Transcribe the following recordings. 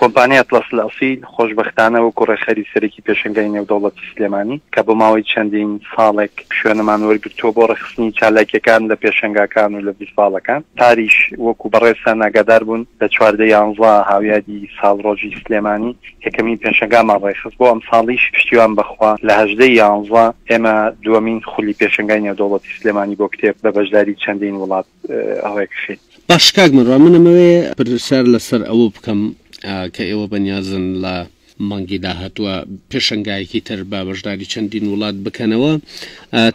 کۆمپانیای ئەتڵەس الئەسیل خۆشبەختانە وەکو ڕێکخەری سەرەکی پێشەنگای نێودەوڵەتی سلێمانی کە بۆ ماوەی چەندین ساڵێک شوێنەمان وەرگرتووە بۆ ڕێکخستنی چالاکیەکان لە پێشەنگاکان و لە ڤیستڤاڵەکان، پاریش وەکو بەڕێزتان ئاگادار بوون لە 14 یانزە هاویادی ساڵڕۆژی سلێمانی یەکەمین پێشەنگامان ڕێکخست، بۆ ئەمساڵیش پشتیوان بەخوا لە 18 یانزە ئێمە دووەمین خولی پێشەنگای نێودەوڵەتی سلێمانی بۆ کتێب بە بەشداری چەندین وڵات ڕێکخین. باش کاک مەروان من ئەمەوێ پرسیار لەسەر ئەوە بکەم کە ئێوە بەنیازن لە مانگی داهاتووە پێشەنگایەکی تر بە بەشداری چەندین وڵات بکەنەوە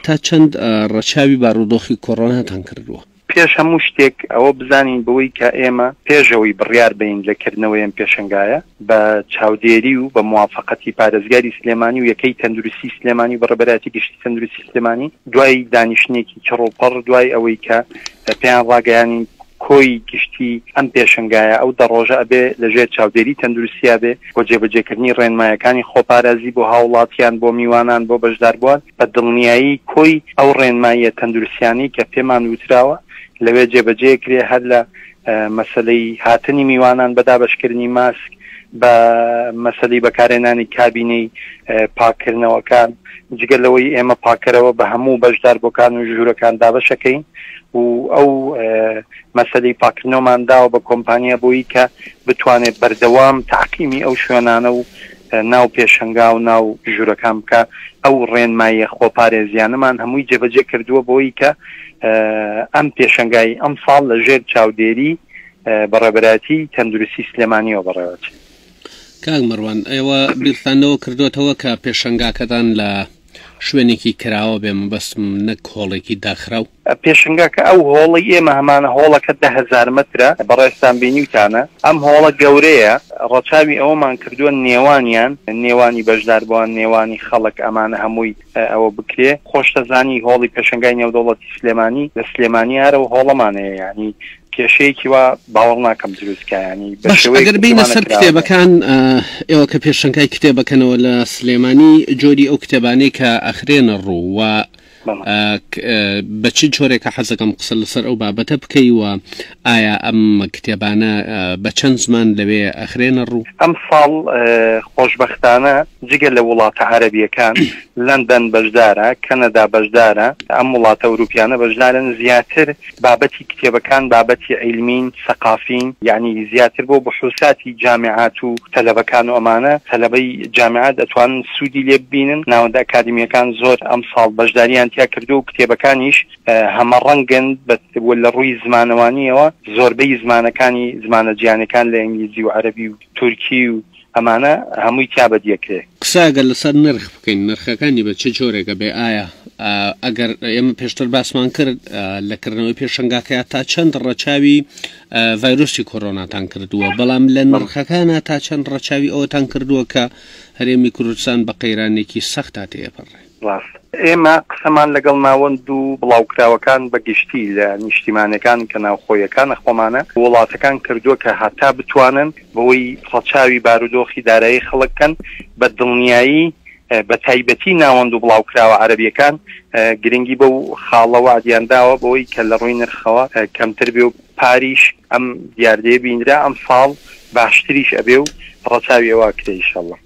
تا چەند ڕەچاوی بارودۆخی کۆرۆناتان کردووە؟ پێش هەموو شتێک ئەوە بزانین بەوەی کە ئێمە پێش ئەوەی بڕیار بەین لە کردنەوەی ئەم پێشەنگایە بە چاودێری و بە موافەقەتی پارێزگاری سلێمانی و یەکەی تەندروستی سلێمانی و بەڕێوەبەرایەتی گشتی تەندروستی سلێمانی دوای دانیشتنێکی چڕوپڕ دوای ئەوەی کە پێیان ڕاگەیانین کۆی گشتی ئەم پێشەنگایە ئەو دە ڕۆژە ئەبێ لە ژێر چاودێری تەندروستیا بێ بۆ جێبەجێکردنی ڕێنمایەکانی خۆپارێزی بۆ هاوڵاتیان بۆ میوانان بۆ بەشداربووان بە دڵنیایی کۆی ئەو ڕێنماییە تەندروستیانەی کە پێمان وتراوە لەوێ جێبەجێ کرێ هەر لە مەسەلەی هاتنی میوانان بە دابەشکردنی ماسک بە مەسەلەی بەکارهێنانی کابینەی پاککردنەوەکان جگە لەوەی ئێمە پاکەرەوە بە هەموو بەشداربووەکان و ژوورەکان دابەشەکەین و ئەو مەسەلەی پاکردنەوەمان داوە بە کۆمپانیا بۆی کە بتوانێت بەردەوام تەعقیمی ئەو شوێنانە و ناو پێشەنگا و ناو ژوورەکان بکە ئەو ڕێنماییە خۆپارێزیانەمان هەمووی جێبەجێ کردووە بۆی کە ئەم پێشەنگای ئەمساڵ لە ژێر چاودێری بەڕێوەبەرایەتی تەندروستی سلێمانیەوە بەڕێوەچێت. کاک مەروان ئێوە بیرتان لەوە کردۆتەوە کە پێشەنگاکەتان لە شوێنێکی کراوە بێ مەبەستم نەک هۆڵێکی داخراو؟ پێشنگاکە ئەو هۆڵەی ئێمە هەمانە هۆڵەکە 10,000 مەترە، بەڕێزتان بینیوتانە ئەم هۆڵە گەورەیە، ڕەچاوی ئەوەمان کردووە نێوانیان، نێوانی بەشداربووان، نێوانی خەڵک ئەمانە هەمووی ئەوە بکرێ، خۆشتەزانی هۆڵی پێشەنگای نێودەوڵەتی سلێمانی لە سلێمانی هەر ئەو هۆڵەمان هەیە یانی کێشەیەکی وا باوەڕ ناکەم دروست کا یانی بە باش شێوەیەک ئەگەر بێینە سەر کراوە. کتێبەکان ئێوە کە پێشەنگای کتێبەکەنەوە لە سلێمانی جۆری ئەو کتێبانەی کە ئەخرێنە ڕوو و بە چ جۆرێکە حەزەکەم قسە لەسەر ئەو بابەتە بکەی و ئایا ئەم کتێبانە بە چەند زمان لەوێ ئەخرێنە ڕوو؟ ئەمساڵ خۆشبەختانە جگە لە وڵاتە عەرەبییەکان لەندەن بەشدارە، کەنەدا بەشدارە، ئەم وڵاتە ئەوروپیانە بەشدارن، زیاتر بابەتی کتێبەکان بابەتی عیلمین، سەقافین، یەعنی زیاتر بۆ بحوساتی جامیعات و تەلەبەکان و ئەمانە، تەلەبەی جامیعات ئەتوانن سوودی لێ ببینن، ناوەندە ئەکادیمییەکان زۆر ئەمساڵ بەشداریان تیا کردووە و کتێبەکانیش هەمەڕەنگن بە و لە ڕووی زمانەوانییەوە زۆربەی زمانەکانی زمانە جیهانیەکان لە ئینگلیزی و عەرەبی و تورکی و ئەمانە هەمووی تیا بەدیەکرێ. قسە ئەگەر لەسەر نرخ بکەین نرخەکانی بە چ جۆرێکە بێ ئایا ئەگەر ئێمە پێشتر باسمان کرد لە کردنەوەی پێشەنگاکەیا تا چەند ڕەچاوی ڤایرۆسی کۆرۆناتان کردووە بەڵام لە نرخەکانە تا چەند ڕەچاوی ئەوەتان کردووە کە هەرێمی کوردستان بە قەیرانێکی سەختا تێپەڕێ؟ ڕاستە. ئێمە قسەمان لەگەڵ ناوەند و بڵاوکراوەکان بە گشتی لە نیشتیمانەکان کە ناوخۆیەکانە خۆمانە وڵاتەکان کردووە کە هەتا بتوانن بەوەی ڕەچاوی بارودۆخی دارایی خەڵک بکەن بە دڵنیایی بە تایبەتی ناوەند و بڵاوکراوە عەرەبیەکان گرنگی بەو خاڵە وەعدیان داوە بەوەی کە لە ڕووی نرخەوە کەمتر بێ و پاریش ئەم دیاردەیە بینرا ئەمساڵ باشتریش ئەبێ و ڕەچاوی ئەوە ئەکرێ ئیشەڵا.